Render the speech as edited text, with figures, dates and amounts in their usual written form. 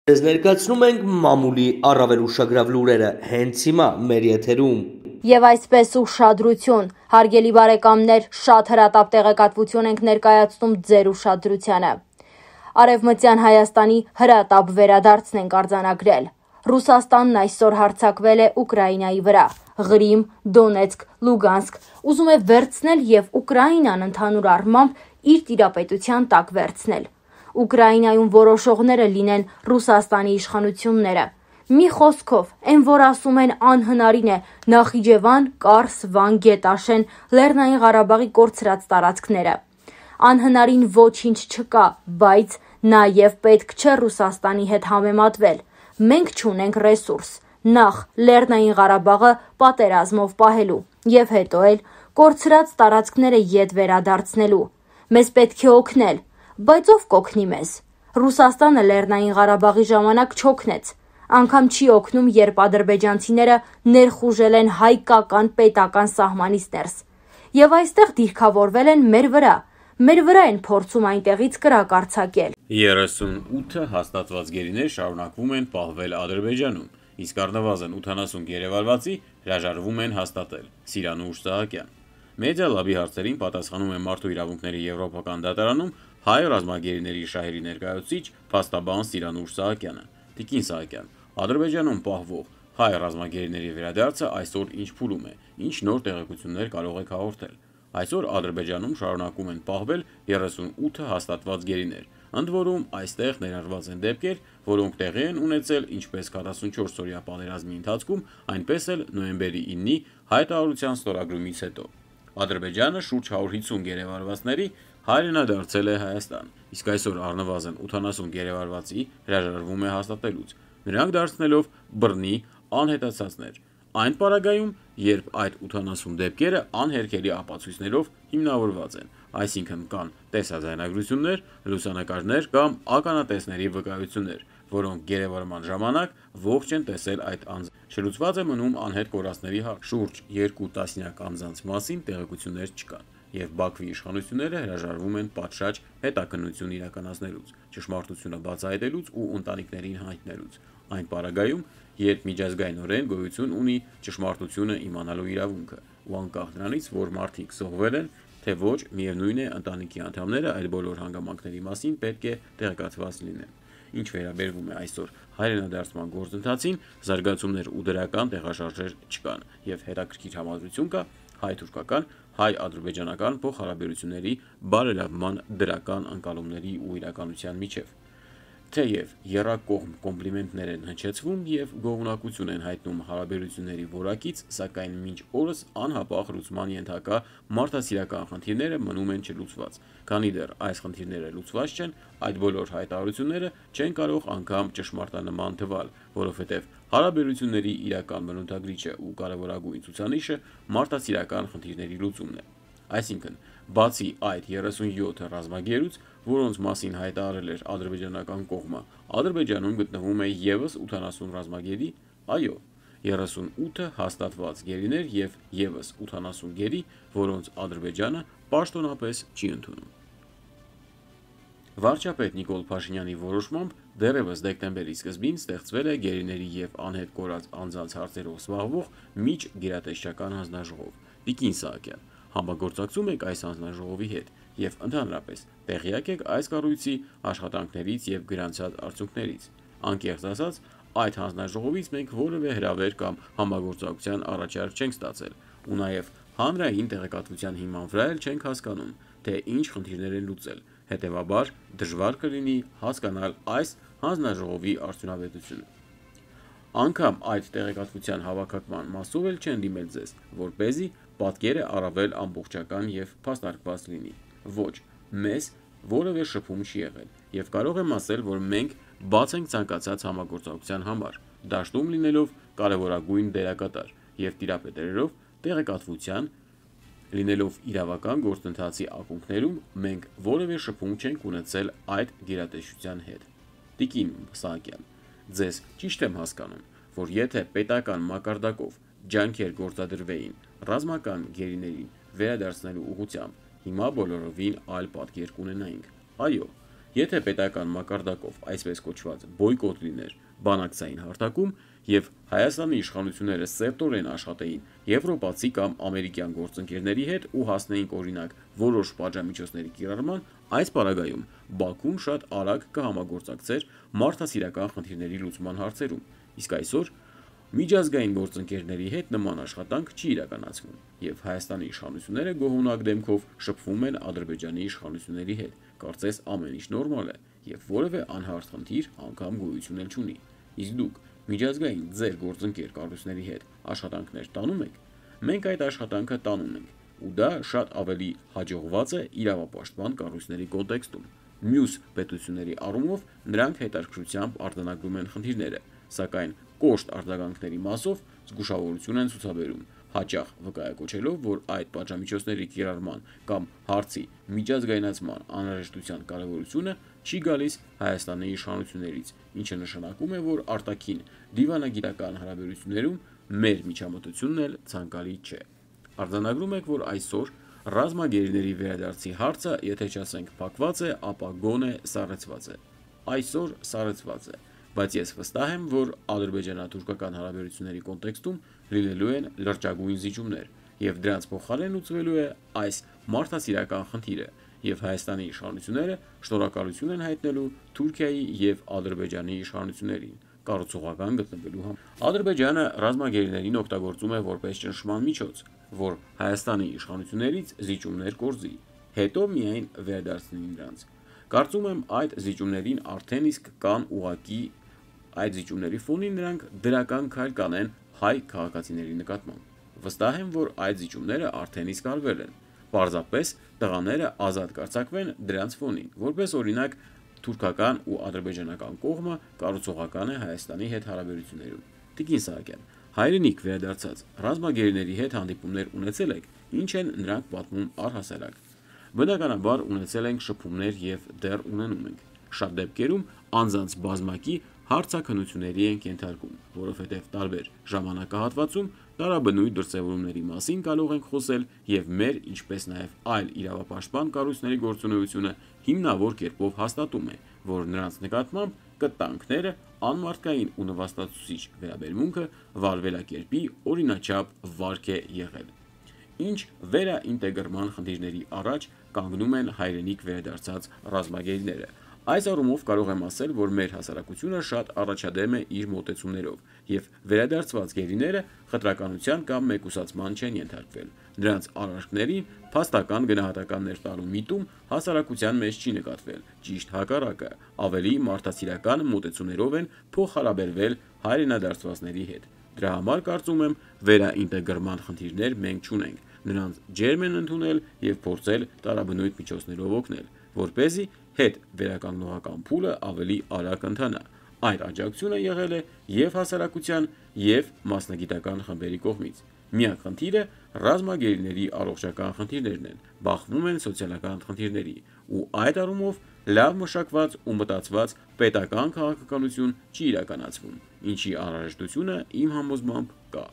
Ձեզ ներկայացնում ենք մամուլի առավել ուշագրավ լուրերը հենց հիմա մեր եթերում։ Եվ այսպես ուշադրություն, հարգելի բարեկամներ, շատ հրատապ տեղեկատվություն ենք ներկայացնում ձեր ուշադրությանը։ Արևմտյան Հայաստանի հրատապ վերադարձն ենք արձանագրել։ Ռուսաստանն այսօր հարձակվել է Ուկրաինայի վրա։ Ղրիմ, Դոնեցկ, Լուգանսկ ուզում է վերցնել եւ Ուկրաինան ընդհանուր առմամբ իր տիրապետության տակ վերցնել։ Ուկրաինայում որոշողները լինեն Ռուսաստանի իշխանությունները։ Մի խոսքով, այն որ ասում են անհնարին է Նախիջևան, Կարս, Վան, Գետաշեն, Լեռնային Ղարաբաղի կորցրած տարածքները։ Անհնարին ոչինչ չկա, բայց նաև պետք չէ Ռուսաստանի հետ համեմատվել։ Մենք չունենք ռեսուրս, նախ Լեռնային Ղարաբաղը պատերազմով պահելու եւ հետո էլ կորցրած տարածքները ետ վերադարձնելու։ Մեզ պետք է օգնել, բայց ով կօգնի մեզ։ Ռուսաստանը Լեռնային Ղարաբաղի ժամանակ չօգնեց։ Անգամ չի օգնում, երբ ադրբեջանցիները ներխուժել են հայկական պետական սահմանից ներս։ Եվ այստեղ դիրքավորվել են մեր վրա են փորձում այնտեղից կրակ արձակել։ 38 հաստատված գերիներ շարունակվում են պահվել Ադրբեջանում, իսկ առնվազն 80 գերեվարվածի հրաժարվում են հաստատել։ Սիրանուշ Սահակյան։ Մեդիա լաբի հարցերին պատասխանում է Մարդու իրավունքների եվրոպական դատարանում հայ ռազմագերիների շահերի ներկայացուցիչ փաստաբան Սիրանուշ Սահակյանը։ Տիկին Սահակյան, Ադրբեջանում պահվող հայ ռազմագերիների վերադարձը այսօր ինչ փուլում է, ինչ նոր տեղեկություններ կարող եք հաղորդել։ Այսօր Ադրբեջանում շարունակում են պահվել 38 հաստատված գերիներ, ընդ որում այստեղ ներառված են դեպքեր, որոնք տեղի են ունեցել ինչպես 44-օրյա պատերազմի ընթացքում, այնպես էլ նոյեմբերի 9-ի հայտարարության ստորագրումից հետո։ Ադրբեջանը շուրջ 150 գերեվարվածների հայրենադարձել է Հայաստան, իսկ այսօր առնվազն 80 գերեվարվածի հրաժարվում է հաստատելուց, նրանք դարձնելով բռնի անհետացածներ։ Այն պարագայում, երբ այդ 80 դեպքերը անհերքելի ապացույցներով հիմնավորված են, այսինքն կան տեսաձայնագրություններ, լուսանկարներ կամ ականատեսների վկայություններ, որոնք գերեվարման ժամանակ ողջ են տեսել այդ անձ։ Շլուծված է մնում անհետ կորածների շուրջ 2 տասնյակ անձանց մասին տեղեկություններ չկան, եւ Բաքվի իշխանությունները հրաժարվում են պատշաճ հետաքննություն իրականացնելուց, ճշմարտությունը բացահայտելուց ու ընտանիքներին հայտնելուց։ Այն պարագայում, երբ միջազգայինորեն գոյություն ունի ճշմարտությունը իմանալու իրավունքը, ու անկախ նրանից, որ մարդիկ զոհվել են, թե ոչ, միևնույն է ընտանիքի անդամները այլ բոլոր հանգամանքների մասին պետք է տեղեկացված լինեն։ Ինչ վերաբերվում է այսօր հայրենադարձման գործընթացին, զարգացումներ ու դրական տեղաշարժեր չկան, եւ հետաքրքիր համադրություն կա հայ-թուրքական, հայ-ադրբեջանական փոխհարաբերությունների բարելավման դրական ընկալումների ու իրականության միջև։ Թեև եռակողմ կոմպլիմենտներ են հնչեցվում եւ գոհունակություն են հայտնում հարաբերությունների որակից, սակայն մինչ օրս անհապաղ լուծման ենթակա մարդասիրական խնդիրները մնում են չլուծված։ Քանի դեռ այս խնդիրները լուծված չեն, այդ բոլոր հայտարարությունները չեն կարող անգամ ճշմարտանման թվալ, որովհետեւ հարաբերությունների իրական բնութագրիչը ու կարևորագույն ցուցանիշը մարդասիրական խնդիրների լուծումն է։ Այսինքն, բացի այդ 37 ռազմագերուց, որոնց մասին հայտարարել էր ադրբեջանական կողմը, Ադրբեջանում գտնվում է եւս 80 ռազմագերի, այո, 38 հաստատված գերիներ եւ եւս 80 գերի, որոնց Ադրբեջանը պաշտոնապես չի ընդունում։ Վարչապետ Նիկոլ Փաշինյանի որոշմամբ դեռևս դեկտեմբերի սկզբին ստեղծվել է գերիների եւ անհետ կորած անձանց հարցերով զբաղվող միջ գերատեսչական հանձնաժողով։ Տիկին Սահակյան, համագործակցում եք այս հանձնաժողովի հետ եւ ընդհանրապես տեղյակ եք այս կառույցի աշխատանքներից եւ գրանցած արդյունքներից։ Անկեղծ ասած, այդ հանձնաժողովից մենք որևէ հրավեր կամ համագործակցության առաջարկ չենք ստացել, ու նաեւ հանրային տեղեկատվության հիման վրա էլ չենք հասկանում, թե ինչ խնդիրներ են լուծել, հետեւաբար դժվար կլինի հասկանալ այս հանձնաժողովի արդյունավետությունը։ Անկամ այդ տեղեկատվության հավաքական մասով էլ չեն դիմել ձեզ, որպեսզի պատկերը առավել ամբողջական եւ փաստարկված լինի։ Ոչ, մեզ որևէ շփում չի եղել, եւ կարող եմ ասել, որ մենք բաց ենք ցանկացած համագործակցության համար, դաշտում լինելով կարևորագույն դերակատար եւ տիրապետերով տեղեկատվության լինելով իրավական գործընթացի ակունքներում, մենք որևէ շփում չենք ունեցել այդ գերատեսչության հետ։ Տիկին Սահակյան, ձեզ ճիշտ եմ հասկանում, որ եթե պետական մակարդակով ջանքեր գործադրվեին ռազմական գերիներին վերադարձնելու ուղղությամբ, հիմա բոլորովին այլ պատկեր կունենայինք։ Այո, Եթե պետական մակարդակով այսպես կոչված բոյկոտ լիներ բանակցային հարթակում եւ Հայաստանի իշխանությունները սերտորեն աշխատեին եվրոպացի կամ ամերիկյան գործընկերների հետ ու հասնեին օրինակ որոշ պատժամիջոցների կիրառման, այս պարագայում Բաքուն շատ արագ կհամագործակցեր մարդասիրական խնդիրների լուծման հարցերում, իսկ այսօր միջազգային գործընկերների հետ նման աշխատանք չի իրականացվում, եւ Հայաստանի իշխանությունները գոհունակ դեմքով շփվում են Ադրբեջանի իշխանությունների հետ, կարծես ամեն ինչ նորմալ է եւ որևէ անհարթ խնդիր անգամ գոյություն էլ չունի։ Իսկ դուք միջազգային ձեր գործընկեր կառույցների հետ աշխատանքներ տանում եք, մենք այդ աշխատանքը տանում ենք, ու դա շատ ավելի հաջողված է իրավապաշտպան կառույցների կոնտեքստում։ Մյուս պետությունների առումով նրանք հետաքրքրությամբ արձանագրում են խնդիրները, սակայն կոշտ արձագանքների մասով զգուշավորություն են ցուցաբերում, հաճախ վկայակոչելով, որ այդ պատժամիջոցների կիրառման կամ հարցի միջազգայնացման անհրաժեշտության կարևորությունը չի գալիս Հայաստանի իշխանություններից, ինչը նշանակում է, որ արտաքին դիվանագիտական հարաբերություններում մեր միջամտությունն էլ ցանկալի չէ։ Արձանագրում եք, որ այսօր ռազմագերիների վերադարձի հարցը, եթե չասենք փակված է, ապա գոնե սառեցված է։ Այսօր սառեցված է, բայց ես վստահ եմ, որ ադրբեջանա-թուրքական հարաբերությունների կոնտեքստում լինելու են լրջագույն զիջումներ, եւ դրանց փոխարեն լուծվելու է այս մարդասիրական խնդիրը, եւ Հայաստանի իշխանությունները շնորհակալություն են հայտնելու Թուրքիայի եւ Ադրբեջանի իշխանություններին կառուցողական գտնվելու համար։ Ադրբեջանը ռազմագերիներին օգտագործում է որպես ճնշման միջոց, որ Հայաստանի իշխանություններից զիջումներ կորզի, հետո միայն վերադարձնի նրանց։ Կարծում եմ այդ զիջումներին արդեն իսկ կան ուղղակի այդ զիջումների ֆոնին նրանք դրական քայլ կանեն հայ քաղաքացիների նկատմամբ։ Վստահ եմ, որ այդ զիջումները արդեն իսկ արվել են։ Պարզապես տղաները ազատ կարձակվեն դրանց ֆոնին, որպես օրինակ թուրքական ու ադրբեջանական կողմը կառուցողական է Հայաստանի հետ հարաբերություններում։ Տիկին Սահակյան, հայրենիք վերադարձած ռազմագերիների հետ հանդիպումներ ունեցել եք, ինչ են նրանք պատմում առհասարակ։ Բնականաբար ունեցել ենք շփումներ եւ դեռ ունենում ենք։ Շատ դեպքերում անձանց բազմակի հարցաքննությունների ենք ենթարկում, որովհետև տարբեր ժամանակահատվածում տարաբնույթ դրսևորումների մասին կարող ենք խոսել եւ մեր, ինչպես նաեւ այլ իրավապաշտպան կառույցների գործունեությունը հիմնավոր կերպով հաստատում է, որ նրանց նկատմամբ կտանքները անմարդկային ու նվաստացուցիչ վերաբերմունքը վարվելակերպի օրինաչափ վարք է եղել։ Ինչ վերաինտեգրման խնդիրների առաջ կանգնում են հայրենիք վերադարձած ռազմագերիները։ Այս առումով կարող եմ ասել, որ մեր հասարակությունը շատ առաջադեմ է իր մոտեցումներով, եւ վերադարձված գերիները խտրականության կամ մեկուսացման չեն ենթարկվել։ Նրանց արարքներին փաստական գնահատականներ տալու միտում հասարակության մեջ չի նկատվել, ճիշտ հակառակը, ավելի մարդասիրական մոտեցումներով են փոխհարաբերվել հայրենադարձվածների հետ։ Դրա համար կարծում եմ վերաինտեգրման խնդիրներ մենք չունենք, նրանց ջերմ են ընդունել եւ փորձել տարաբնույթ միջոցներով օգնել, որպեսզի հետ վերականգնողական փուլը ավելի արագ ընթանա։ Այդ աջակցությունը եղել է եւ հասարակության եւ մասնագիտական խմբերի կողմից։ Միակ խնդիրը ռազմագերիների առողջական խնդիրներն են, բախվում են սոցիալական խնդիրների, ու այդ առումով լավ մշակված ու մտածված պետական քաղաքականություն չի իրականացվում, ինչի անհրաժեշտությունը իմ համոզմամբ կա։